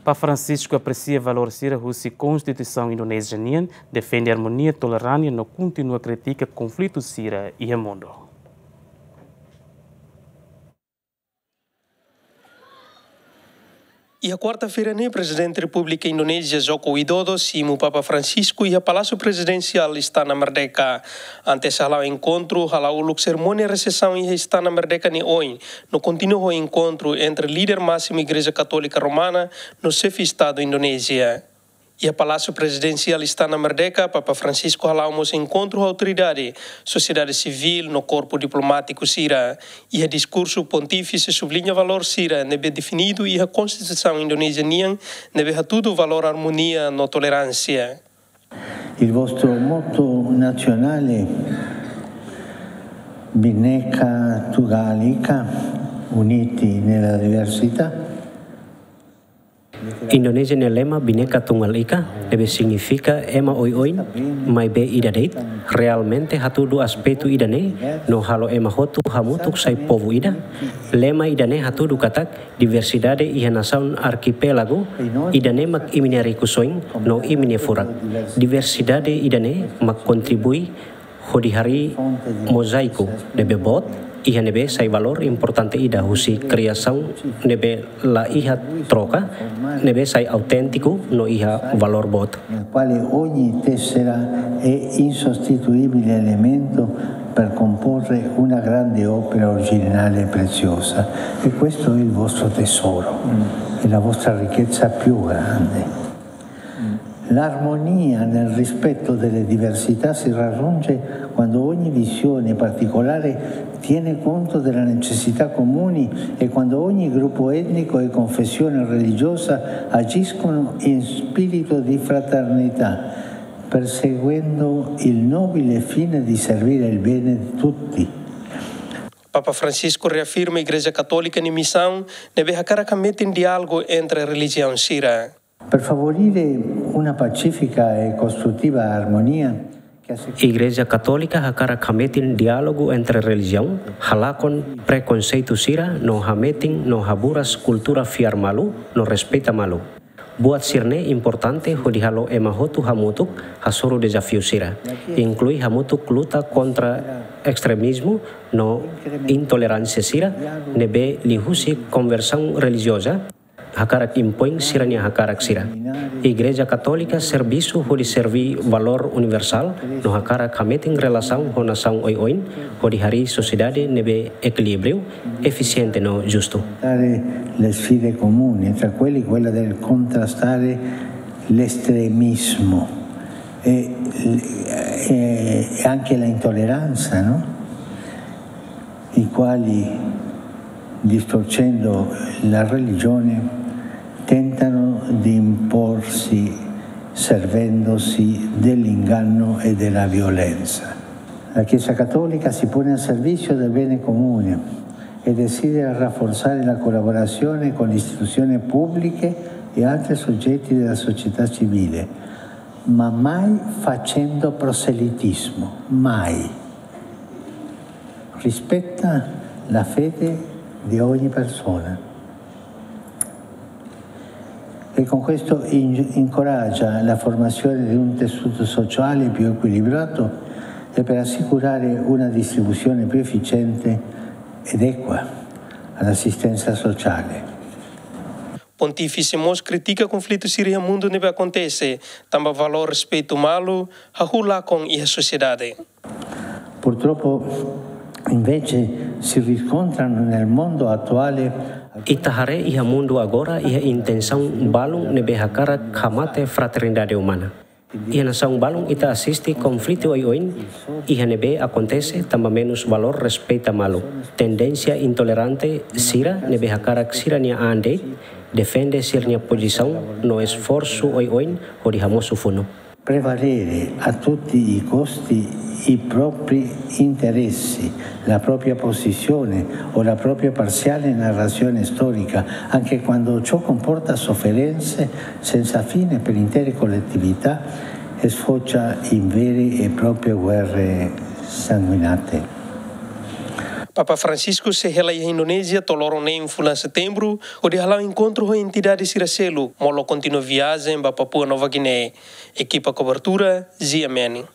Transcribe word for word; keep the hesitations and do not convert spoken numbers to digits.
Papa Francisco apresia valór sira husi Konstituisaun Indonézia nian, defende armonia, toleránsia no kontinua kritika konflitu sira iha mundu. Iha kuarta-feira ne'e, Prezidente Repúblika Indonézia Joko Widodo simu Papa Francisco iha Palásiu Prezidensiál Istana Merdeka. Antes hala'o enkontru, hala'o uluk serimónia resepsaun iha Istana Merdeka nia oin, no kontinua ho enkontru entre líder másimu Igreja Katólika Romana no xefe Estadu Indonézia. Iha Palásiu Prezidensiál Istana Merdeka, Papa Francisco hala'o mós enkontru ho autoridade, sosiedade sivíl no korpu diplomátiku sira. Iha diskursu, Pontífise subliña valór sira ne'ebé definidu iha Konstituisaun Indonézia nian, ne'ebé hatudu valór armonia no toleránsia. Il vostro motto nazionale, Bhinneka Tunggal Ika, Uniti nella diversità. Indonézia nia lema Bhinneka Tunggal Ika, ne'ebé signifika ema oioin, maibé ida de'it, realmente hatudu aspetu ida-ne'e, no halo ema hotu hamutuk sai povu ida. Lema ida-ne'e hatudu katak, diversidade iha nasaun arkipélagu ida-ne'e mak imi-nia rikusoin no imi-nia furak. Diversidade ida-ne'e mak kontribui hodi harii mozáiku ne'ebé boot, iha ne'ebé sai valór importante ida husi kriasaun ne'ebé la iha troka, ne'ebé sai auténtiku no iha valór boot. Nel quale ogni tessera è insostituibile elemento per comporre una grande opera originale e preziosa. E questo è il vostro tesoro, è la vostra ricchezza più grande. L'armonia nel rispetto delle diversità si raggiunge quando ogni visione particolare tiene conto delle necessità comuni e quando ogni gruppo etnico e confessione religiosa agiscono in spirito di fraternità, perseguendo il nobile fine di servire il bene di tutti. Papa Francisco reafirma Igreja Katólika nia misaun, ne'ebé hakarak hametin diálogu entre relijiaun sira. Per favorire una pacifica e costruttiva armonia che assicuri... Igreja Katólika hakarak hametin diálogu entre relijiaun, halakon prekonseitu sira no hametin no haburas kultura fiar malu no respeita malu. Buat sira-ne'e importante hodi halo ema hotu hamutuk hasoru dezafiu sira, inklui hamutuk luta kontra ekstremizmu no intoleránsia sira ne'ebé liuhusi konversaun relijioza hakarak impoin sira-nia hakarak sira. Igreja Katólika servisu hodi serví valór universál no hakarak hametin relasaun ho nasaun oioin hodi harii sosiedade ne'ebé ekilíbriu, efisiente no justu. Affrontare le sfide comuni, tra quelli quella del contrastare l'estremismo e, e, e anche l'intolleranza, no? I quali, distorcendo la religione, tentano di imporsi servendosi dell'inganno e della violenza. La Chiesa Cattolica si pone al servizio del bene comune e desidera rafforzare la collaborazione con le istituzioni pubbliche e altri soggetti della società civile, ma mai facendo proselitismo, mai. Rispetta la fede di ogni persona. E con questo in-, incoraggia la formazione di un tessuto sociale più equilibrato e per assicurare una distribuzione più efficiente ed equa all'assistenza sociale. Pontífise mós kritika konflitu sira iha mundu ne'ebé akontese, tanba valór respeitu malu hahú lakon iha sosiedade. Purtroppo, invece, si riscontrano nel mondo attuale... Ita haree iha mundu agora iha intensaun balun ne'ebé hakarak hamate fraternidade umana. Iha nasaun balun ita asiste konflitu oioin iha ne'ebé akontese tanba menus valór respeita malu. Tendénsia intolerante sira ne'ebé hakarak sira-nia an de'it, defende sira-nia pozisaun no esforsu oioin hodi hamosu funu. Prevalere a tutti i costi i propri interessi, la propria posizione o la propria parziale narrazione storica, anche quando ciò comporta sofferenze senza fine per intere collettività e sfocia in vere e proprie guerre sanguinate. Papa Francisco sei hela iha Indonézia to'o loron neen fulan Setembru, hodi hala'o enkontru ho entidade sira seluk, molok kontinua viajen ba Papua Nova Guiné. Ekipa kobertura, Zia Meni.